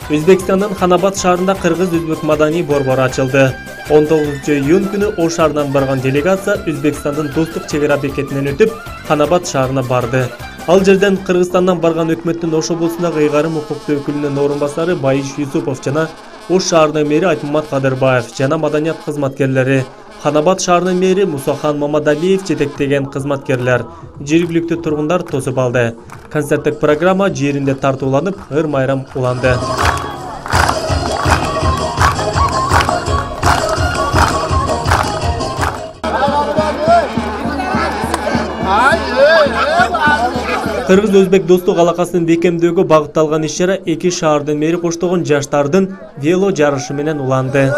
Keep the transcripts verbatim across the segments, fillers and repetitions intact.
Өзбекстандын Ханабад шаарында кыргыз-өзбек маданий борбору ачылды. он тогузунчу июнь күнү Ош шаарынан барган делегация Өзбекстандын достук чек ара бекетинен өтүп, Ханабад шаарына барды. Ал жерден Кыргызстандан барган өкмөттүн Ош облусундагы ыйгарым укуктуу өкүлүнүн орун басары Байиш Юсупов жана Ош шаарынын мэри Айтмамат Кадырбаев жана маданият кызматкерлери, Ханабад шаарынын мэри Мусахан Мамадалиев жетектеген кызматкерлер, жергиликтүү тургундар тосуп алды. Концерттик программа жеринде тартууланып, ыр-майрам уланды. Кыргыз-өзбек достук алакасын бекемдөөгө багытталган иш-чара эки шаардын мэри коштогон жаштардын вело жарышы менен уланды.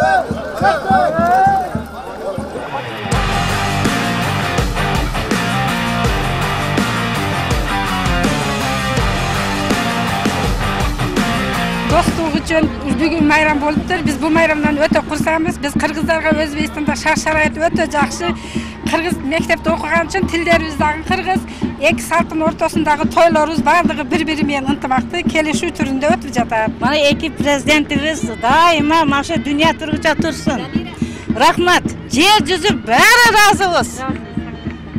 Достук үчүн бүгүн майрам болуптур. Биз бул майрамдан өтө курсанбыз. Биз кыргыздарга Өзбекстанда шарт-шарайат өтө жакшы. Кыргыз мектепте окуган үчүн тилдерибиз дагы кыргыз. Эки салттын ортосундагы тойлорубуз бардыгы бири-бири менен ынтымактуу, келишүү түрүндө өтүп жатат. Мына эки президентибиз дайыма маша дүйнө тургуча турсун. Рахмат. Жер жүзү баары разыбыз.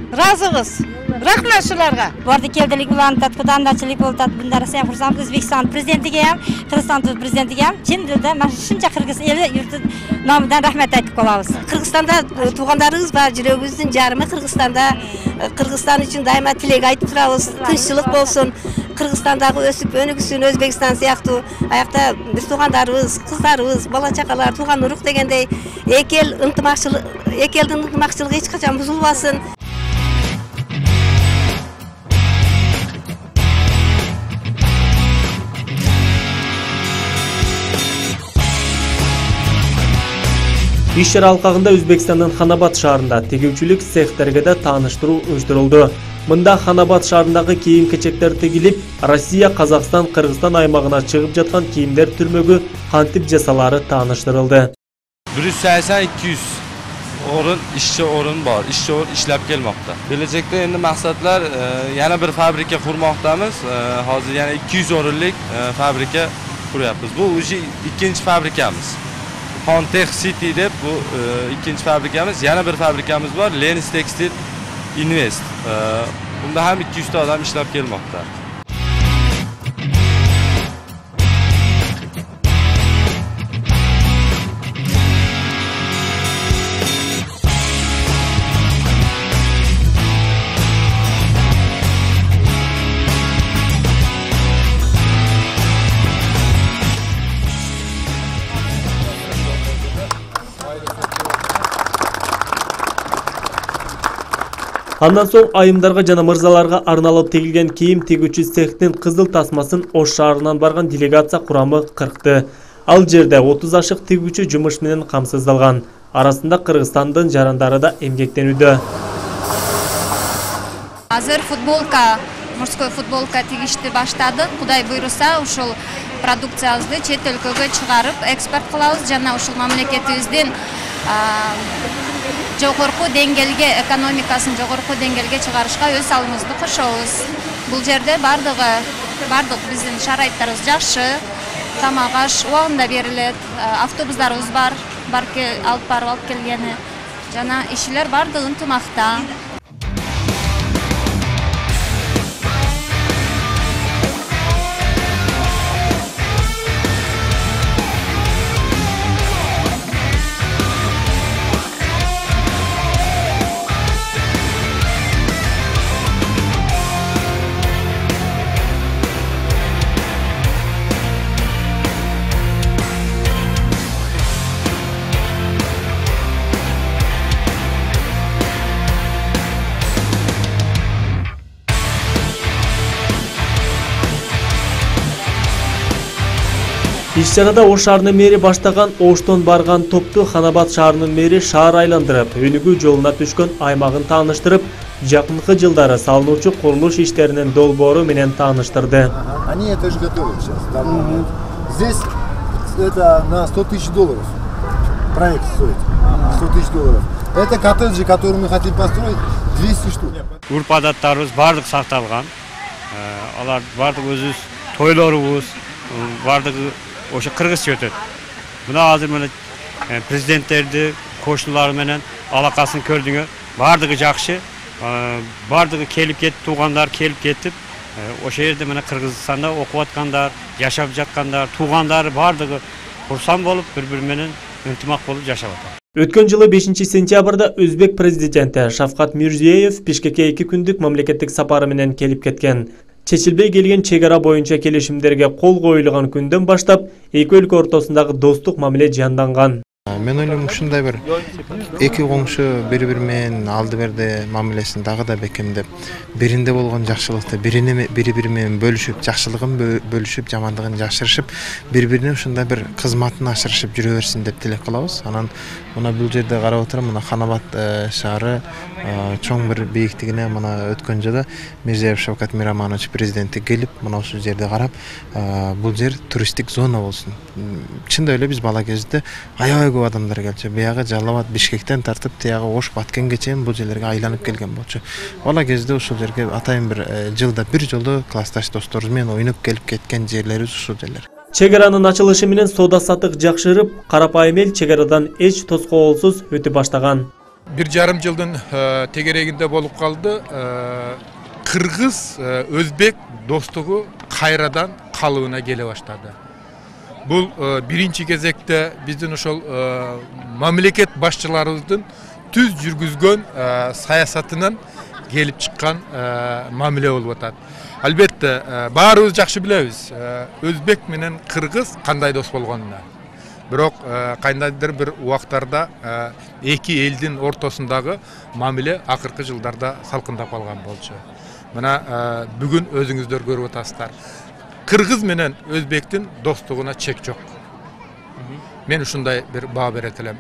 Разыбыз. Рахмат шуларга. Борду келдилик улантат, кудандачылык болот. Мындай сен курсам Өзбекстан президентиге ham, Кыргызстан президентиге ham чын дилде mana шунча кыргыз эли yurtu номунан рахмат айтып калабыз. Кыргызстанда туугандарыбыз бар, жүрөгүбүздүн жарымы Кыргызстанда. Кыргызстан үчүн дайыма тилек айтып турабыз. Тынччылык болсун. Кыргызстандагы өсүп өнүгүсүн Өзбекстан сыяктуу. Аякта биз туугандарыбыз, кыздарыбыз, бала чакалар, тууган урук дегендей эки эл ынтымакчылык, эки элдин ынтымакчылыгы эч качан бузулбасын. Иш-чара алкагында Өзбекстандын Ханабад шаарында тегүүчүлүк цехтерге да тааныштыруу уюштурулду. Мында Ханабад шаарындагы кийим-кечектер тигилип, Россия, Казакстан, Кыргызстан аймагына чыгып жаткан кийимдер түрмөгү кантип жасалары тааныштырылды. bir yüz seksen iki yüz орун, ишчи орун бар, ишчи орун иштеп келмокта. Келечекте энди максатлар yana bir fabrika qurmoqdamiz. Hozir yana ikki yuz o'rinlik fabrika quryapmiz. Bu уже ikkinchi fabrikamiz. Contech City deb bu ikkinchi fabrikamiz, yana bir fabrikamiz bor, Lenis Textile Invest. Bunda ham ikki yuz ta odam ishlab kelmoqda. Андан соң айымдарга жана мырзаларга арналып тегилген кийим тигүүчү цехтин кызыл тасмасын Ош шаарынан барган делегация курамы кыркты. Ал жерде отуз ашык тигүүчү жумуш менен камсыздалган. Арасында Кыргызстандын жарандары да эмгектенүүдө. Азыр футболка, мужской футболка тигишти баштадык. Кудай буйруса, ушул продукциябызды чет өлкөгө чыгарып, экспорт кылабыз жана ушул мамлекетибиздин жогорку деңгээлге, экономикасын жогорку деңгээлге чыгарышка өз салымыбызды кошобуз. Бул жерде бардыгы, бардык биздин шарайттарыбыз жакшы, тамак аш убагында берилет, автобустарыбыз бар, барып алып барып алып келгени, жана ишчилер бардыгы ынтымакта. Иш-чарада Ош шаарынын мэри баштаган Оштон барган топту Ханабад шаарынын мэри шаар айландырып, өнүгүү жолуна түшкөн аймагын тааныштырып, жакынкы жылдары салынуучу курулуш иштеринин долбоору менен тааныштырды. Они это же готовят сейчас. Там, здесь это на сто тысяч долларов проект стоит. сто тысяч долларов. Это коттеджи, которые мы хотим построить, двести штук. Урп-адаттарыбыз бардык сакталган. Алар бардык өзүбүз тойлорубуз, бардыгы ошо кыргызча өтөт. Мына азыр мына президенттерди, кошуналары менен алакасын көрдүңөр. Бардыгы жакшы. Бардыгы келип кетип, туугандар келип кетип, ошол жерде мына Кыргызстанда окуп аткандар, жашап жаткандар, туугандары бардыгы курсан болуп, бири-бири менен ынтымак болуп жашап атат. Өткөн жылы бешинчи сентябрда Өзбек президенти Шавкат Мирзиеев Бишкекке эки күндүк мамлекеттик сапары менен келип кеткен. Чечилбей келген чек ара боюнча келишимдерге кол коюлган күндөн баштап эки өлкө ортосундагы достук мамиле жанданган. Мен ойлойм ушундай бир эки коңшу бири-бири менен алды берди мамилесин дагы да бекемдеп, биринде болгон жакшылыкты бири-бири менен бөлүшүп, жакшылыгын бөлүшүп, жамандыгын жашырышып, бири-бирине ушундай бир кызматын ашырышып жүрө берсин деп тилек кылабыз. Анан мына бул жерде карап отурам, мына Ханабат шаары чоң бир бийиктигине мына өткөн жылы Мирзиеев Шавкат Мираманович президенти келип, мына ушул жерде карап, бул жер туристтик зона болсун. Чындап эле биз бала кезде аябай көп адамдар келчү. Биягы Жалал Абад, Бишкектен тартып, тиягы Ош, Баткенге чейин бул жерлерге айланып келген болчу. Бала кезде ушул жерге атайын бир жылда бир жолу классташ досторубуз менен ойноп келип кеткен жерлерибиз ушул жерлер. Чек аранын ачылышы менен соода саттык жакшырып, карапайым эл чек арадан эч тоскоолсуз өтө баштаган. Бир жарым жылдын тегерегинде болуп калды. Кыргыз Өзбек достугу кайрадан калыбына келе баштады. Бул биринчи кезекте биздин ошол мамлекет башчыларыбыздын түз жүргүзгөн саясатынан келип чыккан мамиле болуп атат. Албетте баарыбыз жакшы билебиз, Өзбек менен Кыргыз кандай дос болгонун. Бирок кандайдыр бир убактарда эки элдин ортосундагы мамиле акыркы жылдарда салкындап калган болчу. Мына бүгүн өзүңүздөр көрүп атасыздар. Кыргыз менен Өзбектин достугуна чек жок. Мен ушундай бир баа берет элем.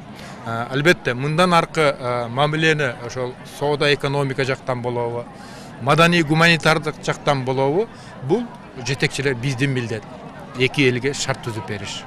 Албетте мындан аркы мамилени ошол соода экономика жактан болобу, маданий гуманитардык жактан болобу, бул жетекчилер биздин милдет. Эки элге шарт түзүп бериш.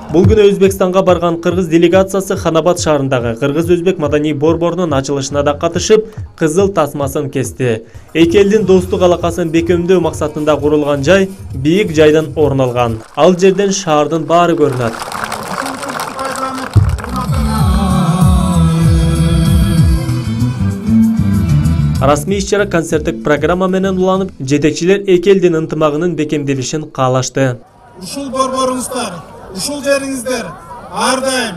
Бул күнү Өзбекстанга барган кыргыз делегациясы Ханабат шаарындагы Кыргыз-Өзбек маданий борборунун ачылышына да катышып, кызыл тасмасын кести. Эки элдин достук алакасын бекемдөө максатында курулган жай бийик жайдан орун алган. Ал жерден шаардын баары көрүнөт. Расмий иш-чара концерттик программа менен уланып, жетекчилер эки элдин ынтымагынын бекемделишин каалашты. Ушул борборуңуздар, ушул жериңиздер ар дайым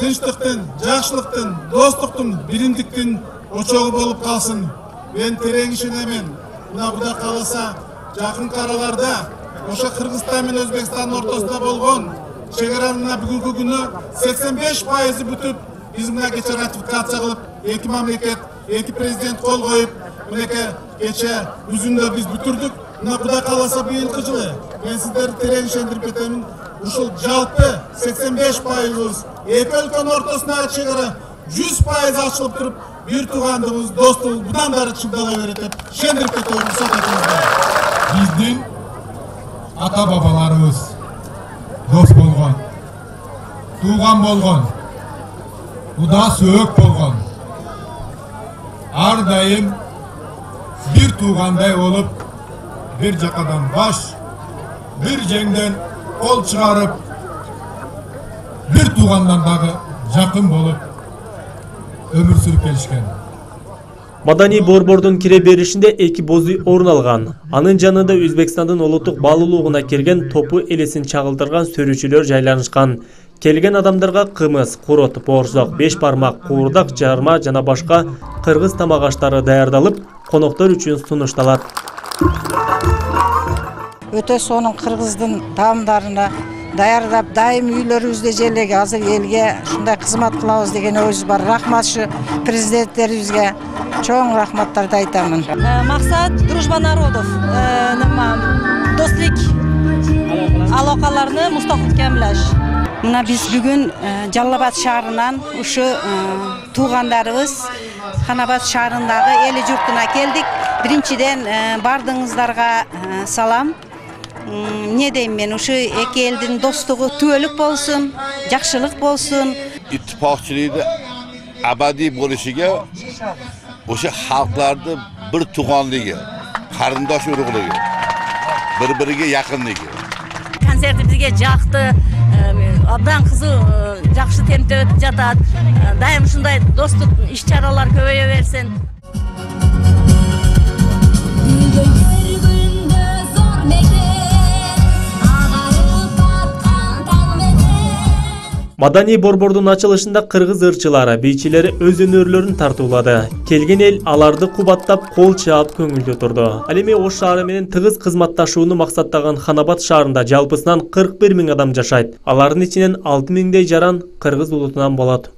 тынчтыктын, жакшылыктын, достуктун, биримдиктин очогу болуп калсын. Мен терең ишенемин. Мына Кудай кааласа, жакынкы араларда ошо Кыргызстан менен Өзбекстандын ортосунда болгон чек аранын бүгүнкү күнү сексен беш пайызы бүтүп, биз мына кече ратификация кылып, эки мамлекет, эки президент кол коюп, мынакей кече үзүндө биз бүтүрдүк. Мына Кудай кааласа быйылкы жылы мен сиздерди терең ишендирип кетемин. Ушул жалпы сексен беш пайыз эки өлкөнүн ортосундагы чек ара жүз пайыз ачылып туруп, бир туугандыгыбыз, достугубуз будан бери чыңдала берет деп ишендирип кетем. Биздин ата бабаларыбыз дос болгон, тууган болгон, куда сөөк болгон. Ар дайым бир туугандай болуп, бир жакадан баш, бир жеңден кол чыгарып, бир туугандан дагы жакын болуп өмүр сүрүп келишкен. Маданий борбордун кире беришинде эки боз үй орун алган. Анын жанында Өзбекстандын улуттук баалуулугуна келген топу элесин чагылдырган сөрүүчүлөр жайланышкан. Келген адамдарга кымыз, курут, боорсок, беш бармак, куурдак, жарма жана башка кыргыз тамак аштары даярдалып, коноктор үчүн сунушталат. Өтө сонун кыргыздын таамдарына даярдап, дайым үйлөрүбүздө желеге азыр элге ушундай кызмат кылабыз деген ойубуз бар. Рахмат ушу президенттерибизге чоң рахматтарды айтамын. Максат дружба народов, достук алакаларны мустакилдемлеш. Мына биз бүгүн Жалал Абад шаарынан ушу туугандарыбыз Ханабат шаарындагы эли журтуна келдик. Биринчиден бардыгыңыздарга салам. Не дейм мен, ушу эки элдин достугу түбөлүк болсун, жакшылык болсун. İttifakçılığı abadi boluşuga o'sha xalqlarni bir tuğanligi, qarindosh urug'ligi, bir-biriga yaqinligi. Konserti bizga yoqdi. Abdan qizi yaxshi tempda o'tib жатат. Doim shunday do'stlik ish-charalar ko'paya bersin. Madani борбордун ачылышында кыргыз ырчылары, бийчилери өз өнөрлөрүн тартуулады. Келген эл аларды кубаттап, кол чаап көңүлдө турду. Ал эми Ош шаары менен тыгыз кызматташууну максаттаган Ханабат шаарында жалпысынан кырк бир миң адам жашайт. Алардын ичинен алты миңдей жаран кыргыз улутунан болот.